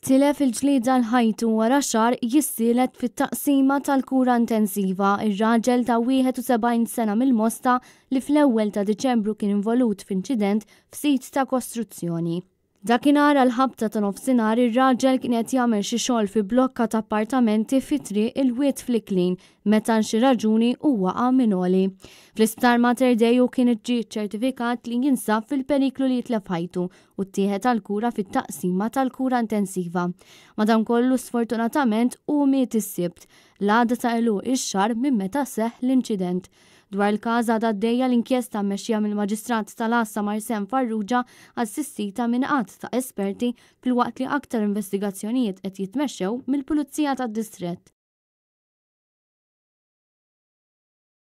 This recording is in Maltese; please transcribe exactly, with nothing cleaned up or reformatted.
Tilef il-ġlieda għal ħajtu wara xahar jissielet fit-taqsima tal-kura intensiva ir-raġel ta' wieħed u sebgħin sena mill-Mosta li fl-ewwel ta' Diċembru kien involut f'inċident f'sit ta' kostruzzjoni. Dakinhar għal ħabta ta' nofsinhar, ir-raġel kien qed jagħmel xi xogħol fi blokka ta' appartamenti fi Triq il-Wied fl-Iklin meta xi raġuni u waqa' minn għoli. Fl-isptar Mater Dei hu kien ġie ċertifikat li jinsab fil-periklu li jitlef ħajtu u ttieħed għal-kura fit-taqsima tal-kura intensiva. Madankollu, sfortunatament, hu miet is-Sibt, l-għada ta' għeluq ix-xahar minn meta seħ l-inċident. Dwar il-każ għadha għaddejja l-inkjesta mmexxija mill-Maġistrat tal-Għassa Marsen Farrugia, assistita minn għadd ta' esperti, filwaqt li aktar investigazzjonijiet qed jitmexxew mill-Pulizija tad-Distrett.